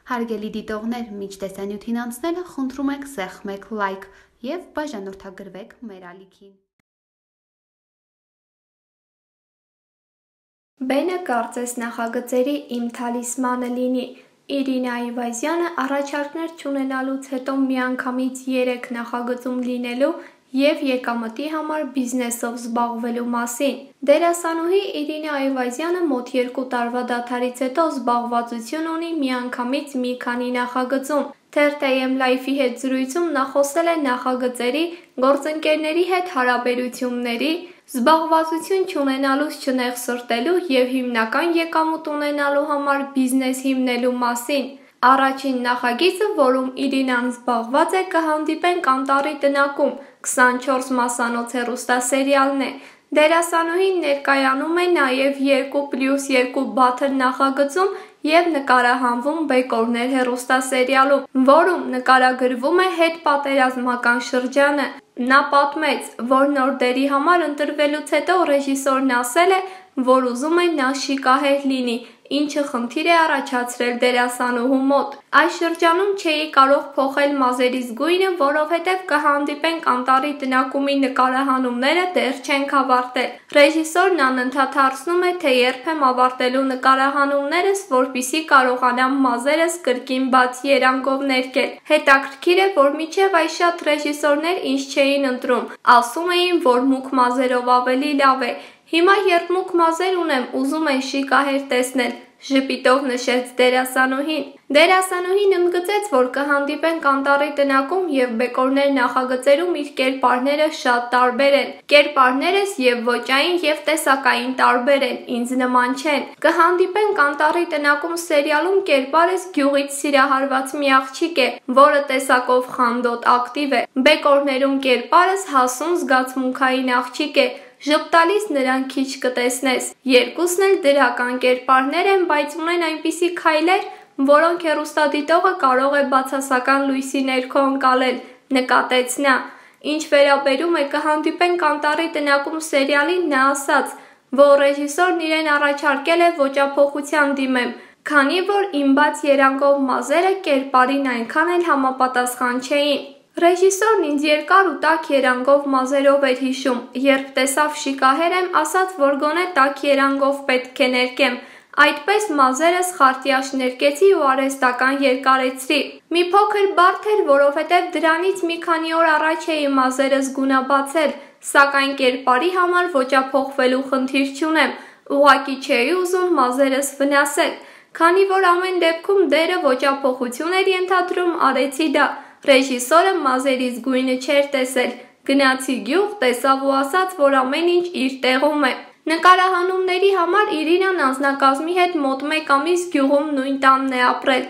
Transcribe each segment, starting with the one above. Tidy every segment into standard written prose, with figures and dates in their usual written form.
Հարգելի դիտողներ, մինչ տեսանյութին անցնելը խնդրում ենք սեղմեք լայք և բաժանորդագրվեք մեր ալիքին։ Բենը կարծես նախագծերի իմ թալիսմանը լինի։ Իրինա Այվազյանը առաջարկներ չունենալուց հետո միանգամից 3 նախագծում լինելու և եկամտի համար բիզնեսով զբաղվելու մասին։ Դերասանուհի Իրինա Այվազյանը մոտ 2 տարվա դադարից հետո զբաղվածություն ունի միանգամից մի քանի նախագծում։ Թերթ.am Life-ի հետ զրույցում նա խոսել է նախագծերի, գործընկերների հետ հարաբերությունների, զբաղվածություն չունենալուց չնեղսրտելու և հիմնական եկամուտ ունենալու համար բիզնես հիմնելու մասին։ Առաջին նախագիծը, որում Իրինան զբաղված է, կհանդիպենք Անտառի տնակում, 24 մասանոց հեռուստասերիալն է։ Դերասանուհին ներկայանում է նաև 2+2 Battle նախագծում և նկարահանվում Բեկորներ հեռուստասերիալում, որում նկարագրվում է հետպատերազմական շրջանը։ Նա պատմեց, որ նոր դերի համար ընտրվելուց հետո ռեժիսորն ասել է, որ ուզում է նա շիկահեր լինի, ինչը խնդիր է առաջացրել դերասանուհու մոտ։ Այս շրջանում չէի կարող փոխել մազերիս գույնը, որովհետև կհանդիպենք Անտառի տնակումի նկարահանումները դեռ չենք ավարտել։ Ռեժիսորն անընդհատ հարցնում է, թե երբ եմ ավարտելու նկարահանումներս, որպեսզի կարողանամ մազերս կրկին բաց երանգով ներկել։ Հետաքրքիր է, որ մինչև այս շատ ռեժիսորներ ինձ չէին ընտրում, ասում էին, որ մուգ մազերով ավելի լավ է։ Հիմա երբ մուգ մազեր ունեմ, ուզում են շիկահեր տեսնել, ժպիտով նշեց դերասանուհին։ Դերասանուհին ընդգծեց, որ կհանդիպենք Անտառի տնակում և Բեկորներ նախագծերում իր կերպարները շատ տարբեր են։ Կերպարներս և ոճային և տեսակային տարբեր են, ինձ նման չեն։ Կհանդիպենք Անտառի տնակում սերիալում կերպարս գյուղից սիրահարված մի աղջիկ է, որը տեսակով խանդոտ ակտիվ է։ Բեկորներում կերպարս հասուն զգացմունքային աղջիկ է, ժպտալիս նրան քիչ կտեսնես։ Երկուսն էլ դրական կերպարներ են, բայց ունեն այնպիսի քայլեր, որոնք հեռուստադիտողը կարող է բացասական լույսի ներքո ընկալել, նկատեց նա։ Ինչ վերաբերում է կհանդիպենք Անտառի տնակում սերիալին, նա ասաց, որ ռեժիսորն իրեն առաջարկել է ոճափոխության դիմեմ, քանի որ իմ բաց երանգով մազերը կերպարին այնքան էլ համապատասխան չէին։ Ռեժիսորն ինձ երկար ու տաք երանգով մազերով էր հիշում, երբ տեսավ շիկահեր եմ, ասաց, որ գոնե տաք երանգով պետք է ներկեմ։ Այդպես մազերս խարտյաշ ներկեցի ու արհեստական երկարեցրի։ Մի փոքր բարդ էր, որովհետև դրանից մի քանի օր առաջ էի մազերս գունաբացել, սակայն կերպարի համար ոճափոխվելու խնդիր չունեմ, ուղղակի չէի ուզում մազերս վնասել։ Քանի որ ամեն դեպքում դերը ոճափոխություն էր ենթադրում, արեցի դա։ Ռեժիսորը մազերիս գույնը չէր տեսել։ Գնացի գյուղ, տեսավ ու ասաց, որ ամեն ինչ իր տեղում է։ Նկարահանումների համար Իրինան անձնակազմի հետ մոտ 1 ամիս գյուղում նույն տանն է ապրել։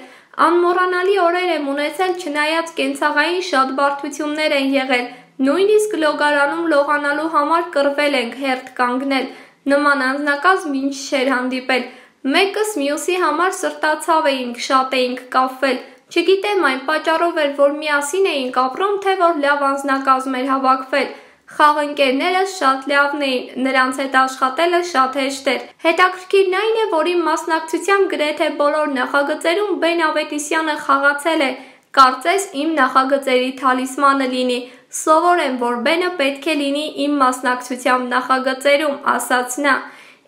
Անմոռանալի օրեր եմ ունեցել, չնայած կենցաղային շատ բարդություններ են եղել, նույնիսկ լոգարանում լողանալու համար կռվել ենք, հերթ կանգնել։ Նման անձնակազմ ինձ չէր հանդիպել։ Մեկս մյուսի համար սրտացավ էինք, շատ էինք կապվել։ Չգիտեմ այն պատճառով էր, որ միասին էինք ապրում, թե որ լավ անձնակազմ էր հավաքվել։ Խաղընկերներս շատ լավն էին, նրանց հետ աշխատելը շատ հեշտ էր։ Հետաքրքիրն այն է, որ իմ մասնակցությամբ գրեթե բոլոր նախագծերում Բեն Ավետիսյանը խաղացել է։ Կարծես իմ նախագծերի թալիսմանը լինի։ Սովոր եմ, որ Բենը պետք է լինի իմ մասնակցությամբ նախագծերում, ասաց նա։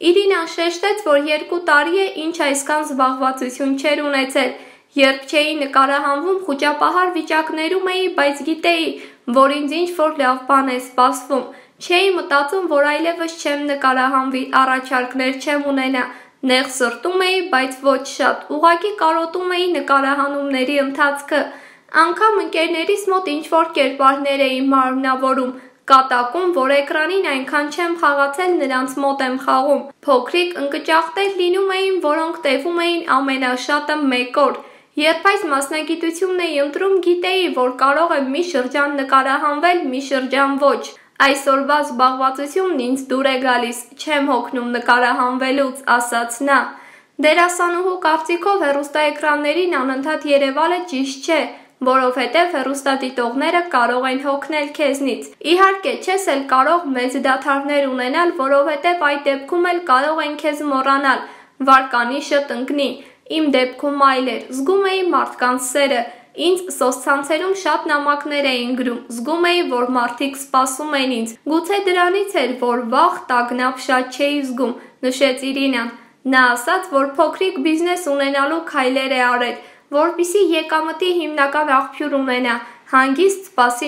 Իրինան շեշտեց, որ 2 տարի է, ինչ այսքան զբաղվածություն չէր ունեցել։ Երբ չէի նկարահանվում, խուճապահար վիճակներում էի, բայց գիտեի, որ ինձ ինչ-որ լավ բան է սպասվում։ Չէի մտածում, որ այլևս չեմ նկարահանվի, առաջարկներ չեմ ունենա։ Նեղսրտում էի, բայց ոչ շատ, ուղղակի կարոտում էի նկարահանումների ընթացքը։ Անգամ ընկերներիս մոտ ինչ-որ կերպարներ էի մարմնավորում, կատակում, որ էկրանին այնքան չեմ խաղացել, նրանց մոտ եմ խաղում։ Փոքրիկ ընկճախտեր լինում էին, որոնք տևում էին ամենաշատը 1 օր։ Երբ այս մասնագիտությունն էի ընտրում, գիտեի, որ կարող եմ մի շրջան նկարահանվել, մի շրջան ոչ։ Այսօրվա զբաղվածությունն ինձ դուր է գալիս, չեմ հոգնում նկարահանվելուց, ասաց նա։ Դերասանուհու կարծիքով հեռուստաէկրաններին անընդհատ երևալը ճիշտ չէ, որովհետև հեռուստադիտողները կարող են հոգնել քեզնից։ Իհարկե, չես էլ կարող մեծ դադարներ ունենալ, որովհետև այդ դեպքում էլ կարող են քեզ մոռանալ, վարկանիշը տնկնի։ Իմ դեպքում այլ էր, զգում էի մարդկանց սերը, ինձ սոցցանցերում շատ նամակներ էին գրում, զգում էի, որ մարդիկ սպասում են ինձ, գուցե դրանից էր, որ վախ, տագնապ շատ չէի զգում, նշեց Իրինան։ Նա ասաց, որ փոքրիկ բիզնես ունենալու քայլեր է արել, որպեսզի եկամտի հիմնական աղբյուր ունենա, հանգիստ սպասի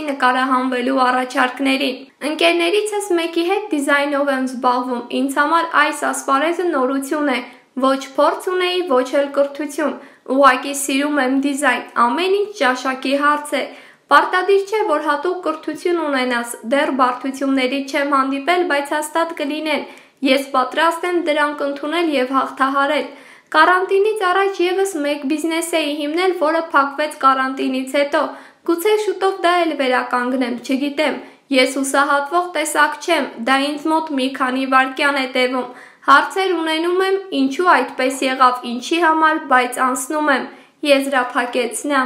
նկարահանվելու առաջարկներին։ Ընկերներիցս մեկի հետ դիզայնով եմ զբաղվում, ինձ համար այս ասպարեզը նորություն է, ոչ փորձ ունեի, ոչ էլ կրթություն, ուղղակի սիրում եմ դիզայն, ամեն ինչ ճաշակի հարց է։ Պարտադիր չէ, որ հատուկ կրթություն ունենաս, դեռ բարդություններից չեմ հանդիպել, բայց հաստատ կլինեն։ Ես պատրաստ եմ դրանք ընդունել եւ հաղթահարել։ Կարանտինից առաջ եւս մեկ բիզնես էի հիմնել, որը փակվեց կարանտինից հետո։ Գուցե շուտով դա էլ վերականգնեմ, չգիտեմ։ Ես հուսահատվող տեսակ չեմ, դա ինձ մոտ մի քանի վայրկյան է տևում։ Հարցեր ունենում եմ, ինչու այդպես եղավ, ինչի համար, բայց անցնում եմ, եզրափակեց նա։